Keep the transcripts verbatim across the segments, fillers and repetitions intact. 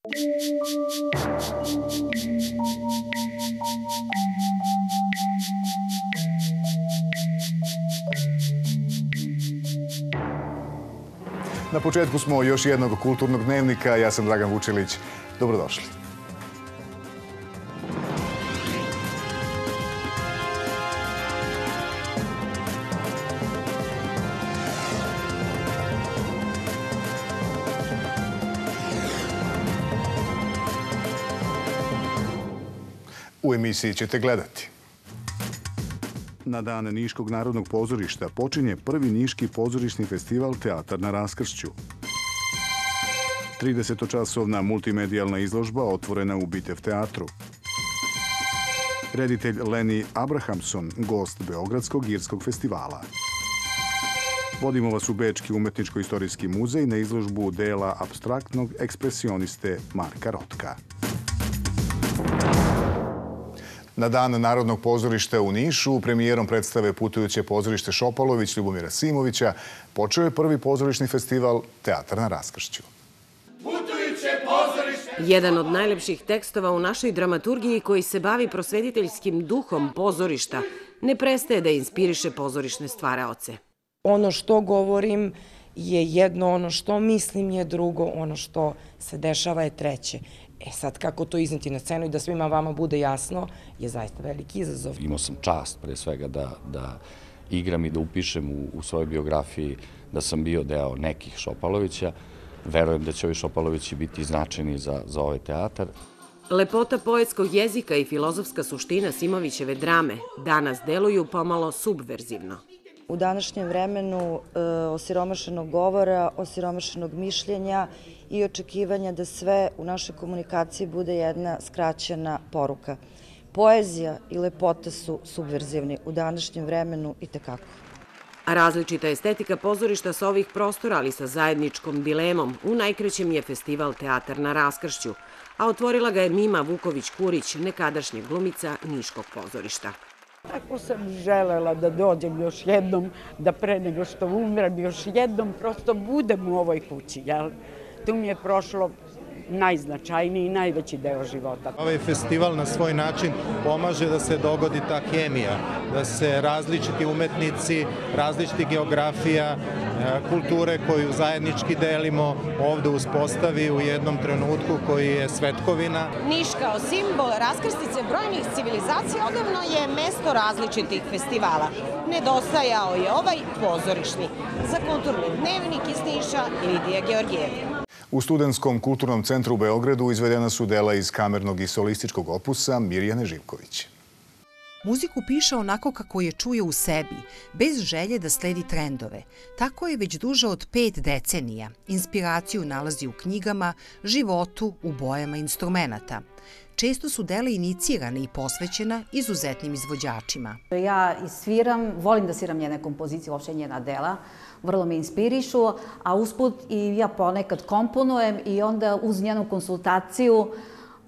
Na početku smo još jednog kulturnog dnevnika. Ja sam Dragan Vučilić. Dobrodošli. U emisiji ćete gledati. Na dan Niškog narodnog pozorišta počinje prvi Niški pozorišni festival Teatar na raskršću. tridesetočasovna multimedijalna izložba otvorena u Bitev teatru. Reditelj Leni Abrahamson, gost Beogradskog irskog festivala. Vodimo vas u Bečki umetničko-istorijski muzej na izložbu dela apstraktnog ekspresioniste Marka Rotka. Na dan Narodnog pozorišta u Nišu premijerom predstave Putujuće pozorište Šopalović Ljubomira Simovića počeo je prvi pozorišni festival Teatar na raskršću. Jedan od najlepših tekstova u našoj dramaturgiji koji se bavi prosvetiteljskim duhom pozorišta ne prestaje da inspiriše pozorišne stvaraoce. Ono što govorim je jedno, ono što mislim je drugo, ono što se dešava je treće. E sad, kako to izneti na scenu i da svima vama bude jasno, je zaista veliki izazov. Imao sam čast, pre svega, da, da igram i da upišem u, u svojoj biografiji da sam bio deo nekih Šopalovića. Verujem da će ovi Šopalovići biti značajni za, za ovaj teatar. Lepota poetskog jezika i filozofska suština Simovićeve drame danas deluju pomalo subverzivno. U današnjem vremenu e, osiromašenog govora, osiromašenog mišljenja i očekivanja da sve u našoj komunikaciji bude jedna skraćena poruka. Poezija i lepota su subverzivni u današnjem vremenu i tekako. A različita estetika pozorišta sa ovih prostora, ali sa zajedničkom dilemom, u najkrećem je festival Teatar na raskršću, a otvorila ga je Mima Vuković-Kurić, nekadašnja glumica Niškog pozorišta. Tako sam želela da dođem još jednom, da pre nego što umrem još jednom prosto budem u ovoj kući. Jel? Tu mi je prošlo najznačajniji i najveći deo života. Ovaj festival na svoj način pomaže da se dogodi ta hemija, da se različiti umetnici, različiti geografija, kulture koju zajednički delimo ovde uspostavi u jednom trenutku koji je svetkovina. Niš kao simbol raskrstice brojnih civilizacija odavno je mesto različitih festivala. Nedostajao je ovaj pozorišni. Za kulturni dnevnik iz Niša Lidija Georgijev. U Studentskom kulturnom centru u Beogradu izvedena su dela iz kamernog i solističkog opusa Mirjane Živković. Muziku piše onako kako je čuje u sebi, bez želje da sledi trendove. Tako je već duže od pet decenija. Inspiraciju nalazi u knjigama, životu, u bojama instrumenata. Često su dela inicirane i posvećena izuzetnim izvođačima. Ja sviram, volim da sviram njene kompozicije, uopšte njena dela, vrlo me inspirišu, a usput i ja ponekad komponujem i onda uz njenu konsultaciju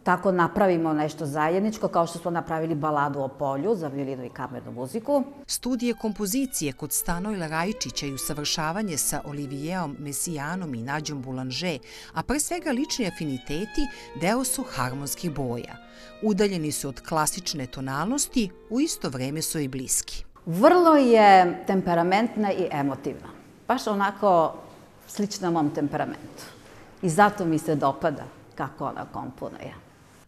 tako napravimo nešto zajedničko, kao što smo napravili baladu o polju za violinu i kamernu muziku. Studije kompozicije kod Stanojla Rajčića i usavršavanje sa Olivijeom Mesijanom i Nađom Boulanger, a pre svega lični afiniteti, deo su harmonskih boja. Udaljeni su od klasične tonalnosti, u isto vreme su i bliski. Vrlo je temperamentna i emotivna. Baš onako slična mom temperamentu. I zato mi se dopada kako ona komponuje.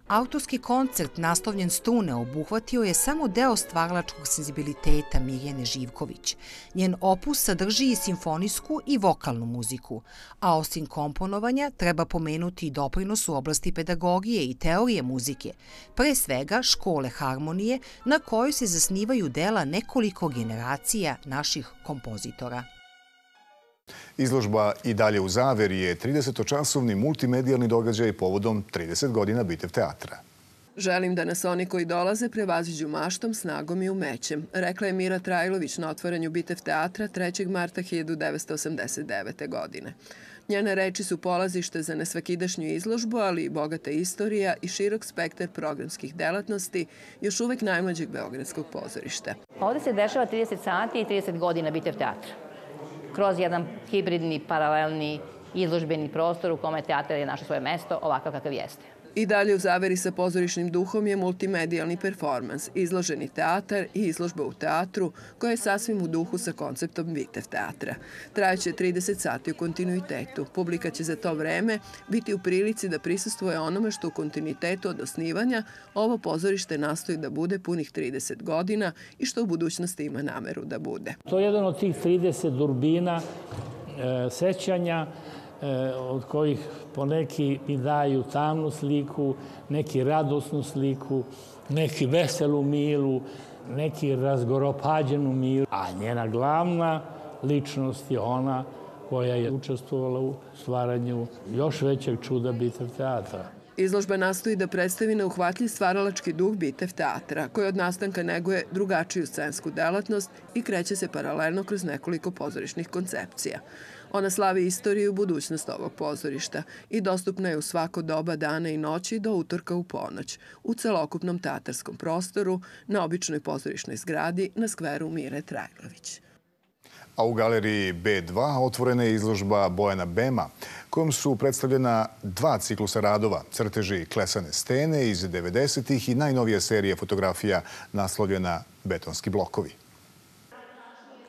Autorski koncert naslovljen Strune obuhvatio je samo deo stvaralačkog senzibiliteta Mirjane Živković. Njen opus sadrži i simfonijsku i vokalnu muziku, a osim komponovanja treba pomenuti i doprinos u oblasti pedagogije i teorije muzike, pre svega škole harmonije na kojoj se zasnivaju dela nekoliko generacija naših kompozitora. Izložba I dalje u zaveri je tridesetočasovni multimedijalni događaj povodom trideset godina Bitev teatra. Želim da nas oni koji dolaze prevaziđu maštom, snagom i umećem, rekla je Mira Trajlović na otvaranju Bitev teatra trećeg marta hiljadu devetsto osamdeset devete. godine. Njene reči su polazište za nesvakidašnju izložbu, ali i bogata istorija i širok spektar programskih delatnosti još uvek najmlađeg beogradskog pozorišta. Ovde se dešava trideset sati i trideset godina Bitev teatra. Kroz jedan hibridni, paralelni izložbeni prostor u kome teatar je našao svoje mesto ovakav kakav jeste. I dalje u zaveri sa pozorišnim duhom je multimedijalni performans, izloženi teatar i izložba u teatru, koja je sasvim u duhu sa konceptom Bitev teatra. Trajaće trideset sati u kontinuitetu. Publika će za to vreme biti u prilici da prisustvuje onome što u kontinuitetu od osnivanja ovo pozorište nastoji da bude punih trideset godina i što u budućnosti ima nameru da bude. To je jedan od tih trideset durbina e, sećanja, od kojih poneki mi daju tamnu sliku, neki radosnu sliku, neki veselu milu, neki razgoropađenu milu. A njena glavna ličnost je ona koja je učestvovala u stvaranju još većeg čuda Bitev teatra. Izložba nastoji da predstavi neuhvatljiv stvaralački duh Bitev teatra, koji od nastanka neguje drugačiju scensku delatnost i kreće se paralelno kroz nekoliko pozorišnih koncepcija. Ona slavi istoriju i budućnost ovog pozorišta i dostupna je u svako doba dana i noći do utorka u ponoć, u celokupnom teatarskom prostoru, na običnoj pozorišnoj zgradi na skveru Mire Trajlović. A u galeriji B dva otvorena je izložba Bojana Bema, kojom su predstavljena dva ciklusa radova, crteži klesane stene iz devedesetih i najnovija serija fotografija naslovljena Betonski blokovi.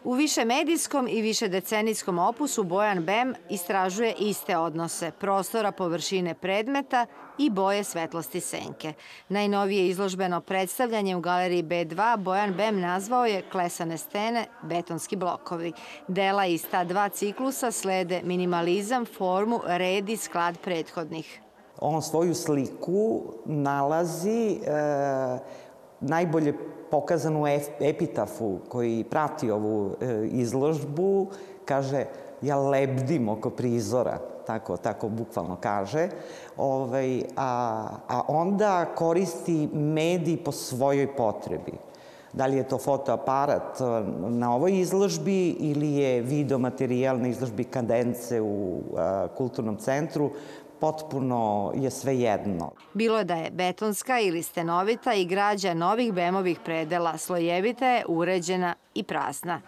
U višemedijskom i višedecenijskom opusu Bojan Bem istražuje iste odnose prostora, površine predmeta i boje svetlosti senke. Najnovije izložbeno predstavljanje u galeriji B dva Bojan Bem nazvao je Klesane stene, betonski blokovi. Dela iz ta dva ciklusa slede minimalizam, formu, red i sklad prethodnih. On svoju sliku nalazi e, najbolje pokazanu u epitafu koji prati ovu izložbu, kaže, ja lebdim oko prizora, tako, tako bukvalno kaže, ovaj, a, a onda koristi medij po svojoj potrebi. Da li je to fotoaparat na ovoj izložbi ili je videomaterijal na izložbi Kadence u a, Kulturnom centru, potpuno je sve jedno. Bilo da je betonska ili stenovita i građa novih Bemovih predela, slojevita je, uređena i prazna.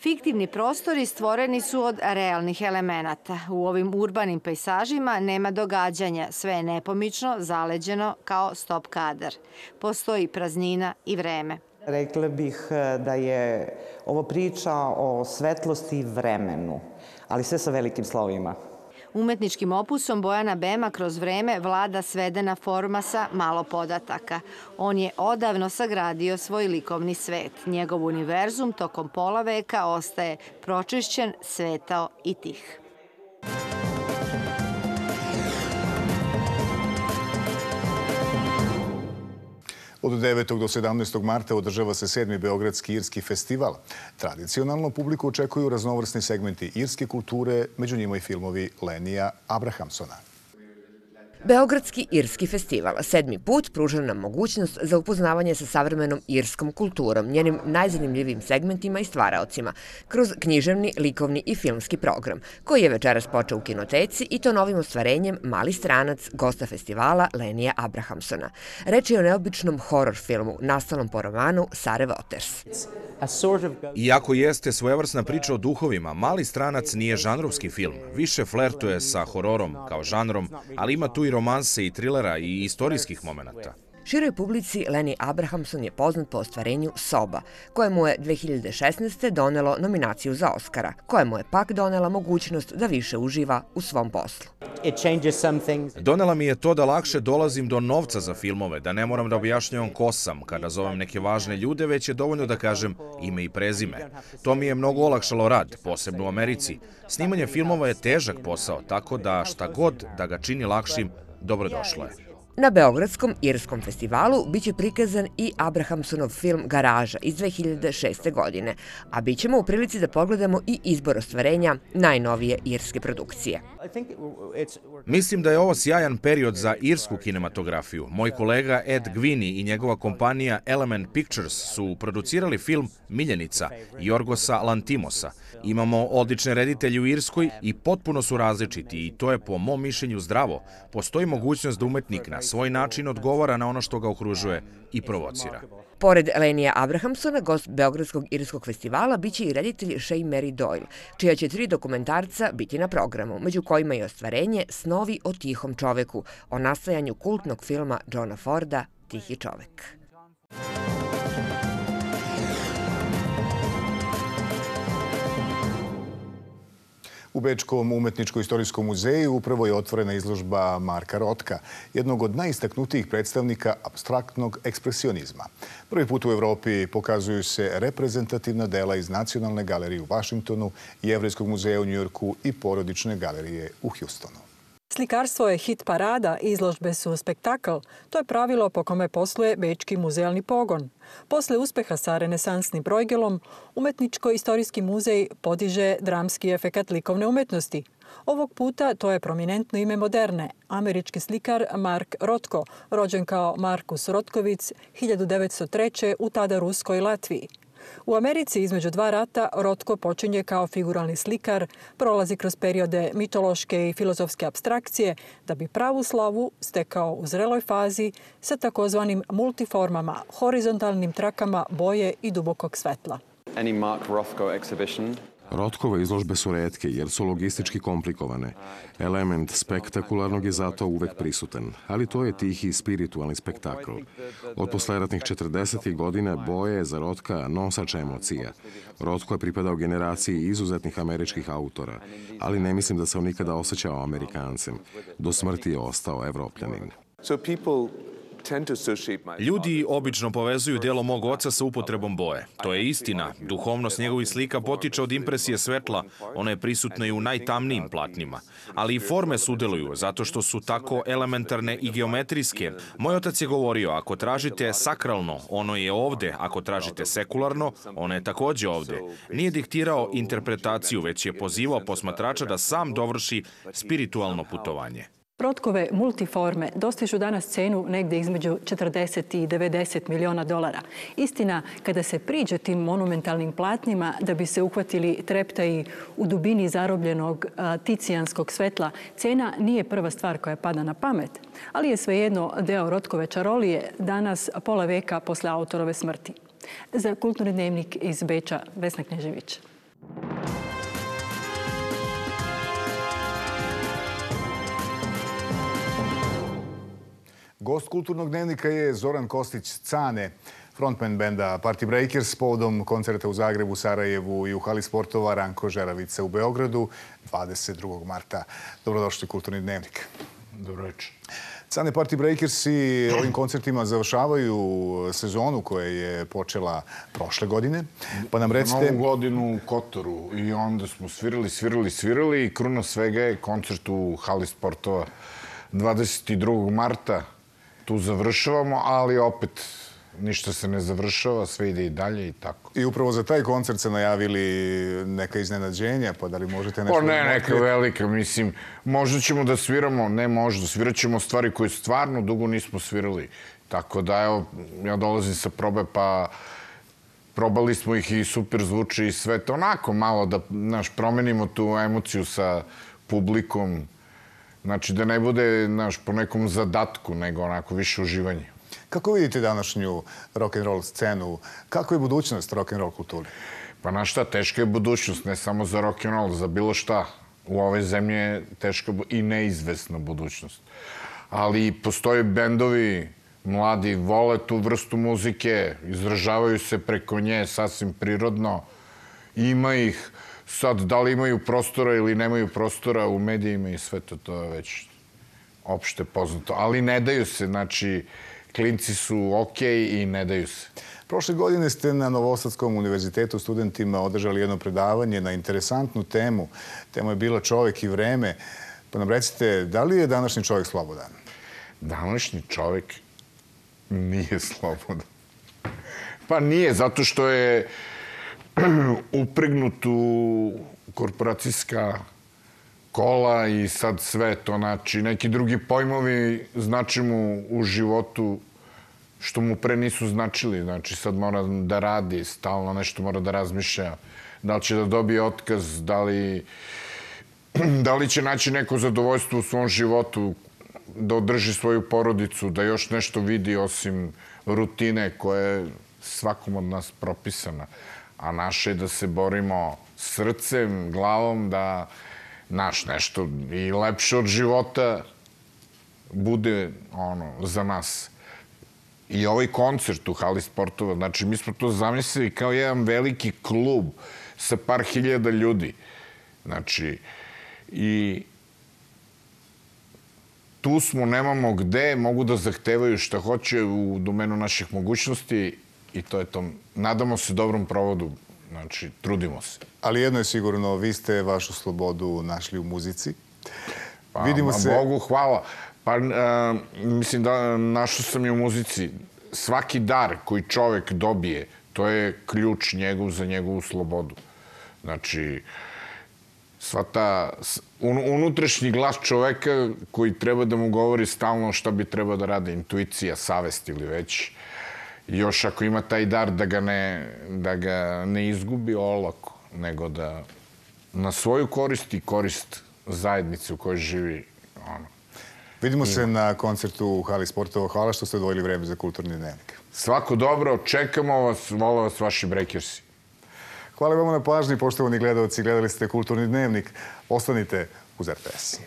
Fiktivni prostori stvoreni su od realnih elemenata. U ovim urbanim pejsažima nema događanja, sve je nepomično, zaleđeno kao stop kadar. Postoji praznina i vreme. Rekla bih da je ovo priča o svetlosti i vremenu, ali sve sa velikim slovima. Umetničkim opusom Bojana Bema kroz vreme vlada svedena forma sa malo podataka. On je odavno sagradio svoj likovni svet. Njegov univerzum tokom pola veka ostaje pročišćen, svetao i tih. Od devetog do sedamnaestog marta održava se sedmi Beogradski irski festival. Tradicionalno publiku očekuju raznovrsni segmenti irske kulture, među njima i filmovi Lenija Abrahamsona. Beogradski irski festival sedmi put pruža nam mogućnost za upoznavanje sa savremenom irskom kulturom, njenim najzanimljivijim segmentima i stvaraocima, kroz književni, likovni i filmski program, koji je večeras počeo u kinoteci i to novim ostvarenjem Mali stranac, gosta festivala Lenija Abrahamsona. Reč je o neobičnom horor filmu, nastalom po romanu Sare Waters. Iako jeste svojevrsna priča o duhovima, Mali stranac nije žanrovski film. Više flertuje sa hororom kao žanrom, ali ima tu i romanse i trilera i istorijskih momenata. Široj publici Lenny Abrahamson je poznat po ostvarenju Soba, koje mu je dve hiljade šesnaeste. donelo nominaciju za Oscara, koje mu je pak donela mogućnost da više uživa u svom poslu. Donela mi je to da lakše dolazim do novca za filmove, da ne moram da objašnjavam ko sam kada zovem neke važne ljude, već je dovoljno da kažem ime i prezime. To mi je mnogo olakšalo rad, posebno u Americi. Snimanje filmova je težak posao, tako da šta god da ga čini lakšim, dobrodošlo je. Na Beogradskom irskom festivalu biće prikazan i Abrahamsonov film Garaža iz dve hiljade šeste. godine, a bit ćemo u prilici da pogledamo i izbor ostvarenja najnovije irske produkcije. Mislim da je ovo sjajan period za irsku kinematografiju. Moj kolega Ed Gwini i njegova kompanija Element Pictures su producirali film Miljenica Jorgosa Lantimosa. Imamo odlične reditelje u Irskoj i potpuno su različiti i to je po mom mišljenju zdravo. Postoji mogućnost da umetnik na svoj način odgovara na ono što ga okružuje i provocira. Pored Lenija Abrahamsona, gost Beogradskog irskog festivala biće i reditelj Shea Mary Doyle, čija će tri dokumentarca biti na programu, među kojima je ostvarenje Snovi o tihom čoveku, o nastajanju kultnog filma Johna Forda Tihi čovek. U Bečkom umetničko-istorijskom muzeju upravo je otvorena izložba Marka Rotka, jednog od najistaknutijih predstavnika apstraktnog ekspresionizma. Prvi put u Evropi pokazuju se reprezentativna dela iz Nacionalne galerije u Vašingtonu, Jevrejskog muzeja u Njujorku i Porodične galerije u Hjustonu. Slikarstvo je hit parada, izložbe su spektakl. To je pravilo po kome posluje Bečki muzealni pogon. Posle uspeha sa renesansnim brojgelom, Umetničko-istorijski muzej podiže dramski efekat likovne umetnosti. Ovog puta to je prominentno ime moderne, američki slikar Mark Rotko, rođen kao Markus Rotkovic hiljadu devetsto treće. u tada Ruskoj Latviji. U Americi između dva rata Rotko počinje kao figuralni slikar, prolazi kroz periode mitološke i filozofske apstrakcije, da bi pravu slavu stekao u zreloj fazi sa takozvanim multiformama, horizontalnim trakama boje i dubokog svetla. Rotkove izložbe su retke jer su logistički komplikovane. Element spektakularnog je zato uvek prisutan, ali to je tihi spiritualni spektakl. Od posleratnih četrdesetih godina boje je za Rotka nosač emocija. Rotko je pripadao generaciji izuzetnih američkih autora, ali ne mislim da se on nikada osjećao Amerikancem. Do smrti je ostao Evropljanin. Ljudi obično povezuju delo mog oca sa upotrebom boje. To je istina. Duhovnost njegovih slika potiče od impresije svetla. Ona je prisutna i u najtamnijim platnima. Ali i forme sudeluju, zato što su tako elementarne i geometrijske. Moj otac je govorio, ako tražite sakralno, ono je ovde. Ako tražite sekularno, ono je takođe ovde. Nije diktirao interpretaciju, već je pozivao posmatrača da sam dovrši spiritualno putovanje. Rotkove multiforme dostižu danas cenu negde između četrdeset i devedeset miliona dolara. Istina, kada se priđe tim monumentalnim platnima da bi se uhvatili treptaji u dubini zarobljenog ticijanskog svetla, cena nije prva stvar koja pada na pamet, ali je svejedno deo Rotkove čarolije danas pola veka posle autorove smrti. Za Kulturni dnevnik iz Beča, Vesna Knežević. Gost Kulturnog dnevnika je Zoran Kostić-Cane, frontman benda Party Breakers, povodom koncerta u Zagrebu, Sarajevu i u hali sportova Ranko Žeravica u Beogradu dvadeset drugog marta. Dobrodošli u Kulturni dnevnik. Dobro večer. Cane, Party Breakersi ovim koncertima završavaju sezonu koja je počela prošle godine. Pa nam recite... Novu godinu u Kotoru i onda smo svirali, svirali, svirali i kruna svega je koncert u hali sportova dvadeset drugog marta. Tu završavamo, ali opet ništa se ne završava, sve ide i dalje i tako. I upravo za taj koncert se najavili neka iznenađenja, pa da li možete nešto... Pa ne, neka velika, mislim, možda ćemo da sviramo, ne možda, svirat ćemo stvari koje stvarno dugo nismo svirali. Tako da, evo, ja dolazim sa probe, pa probali smo ih i super zvuči i sve to onako malo da, znaš, promenimo tu emociju sa publikom. Znači, da ne bude, znaš, po nekom zadatku, nego onako više uživanje. Kako vidite današnju rock'n'roll scenu? Kako je budućnost rock'n'roll kulturi? Pa na šta, teška je budućnost, ne samo za rock'n'roll, za bilo šta. U ovoj zemlji je teška i neizvesna budućnost. Ali postoje bendovi, mladi vole tu vrstu muzike, izražavaju se preko nje sasvim prirodno. Ima ih. Sad, da li imaju prostora ili nemaju prostora u medijima i sve to, to je već opšte poznato. Ali ne daju se, znači, klinci su okej i ne daju se. Prošle godine ste na Novosadskom univerzitetu studentima održali jedno predavanje na interesantnu temu. Tema je bila čovek i vreme. Pa nam recite, da li je današnji čovek slobodan? Današnji čovek nije slobodan. Pa nije, zato što je upregnut u korporacijska kola i sad sve to, znači, neki drugi pojmovi znači mu u životu što mu pre nisu značili. Znači, sad mora da radi, stalno nešto mora da razmišlja. Da li će da dobije otkaz, da li, da li će naći neko zadovoljstvo u svom životu. da održi svoju porodicu, da još nešto vidi osim rutine koja je svakom od nas propisana. A naše je da se borimo srcem, glavom, da naš nešto i lepše od života bude ono, za nas. I ovaj koncert u hali sportova, znači mi smo to zamislili kao jedan veliki klub sa par hiljada ljudi. Znači, i tu smo, nemamo gde, mogu da zahtevaju šta hoće u domenu naših mogućnosti i to je to. Nadamo se dobrom provodu, znači, trudimo se. Ali jedno je sigurno, vi ste vašu slobodu našli u muzici. Pa, Vidimo se... Bogu hvala. Pa, mislim da našao sam i u muzici. Svaki dar koji čovek dobije, to je ključ njegov za njegovu slobodu. Znači, sva ta unutrašnji glas čoveka koji treba da mu govori stalno šta bi treba da radi, intuicija, savest ili već. Još ako ima taj dar da ga ne, da ga ne izgubi olako, nego da na svoju korist i korist zajednice u kojoj živi. Ono. Vidimo se na koncertu u hali sportova. Hvala što ste odvojili vreme za Kulturni dnevnik. Svako dobro, čekamo vas, vole vas vaši Breakersi. Hvala vam na pažnji, poštovani gledalci. Gledali ste Kulturni dnevnik. Ostanite uz R T S.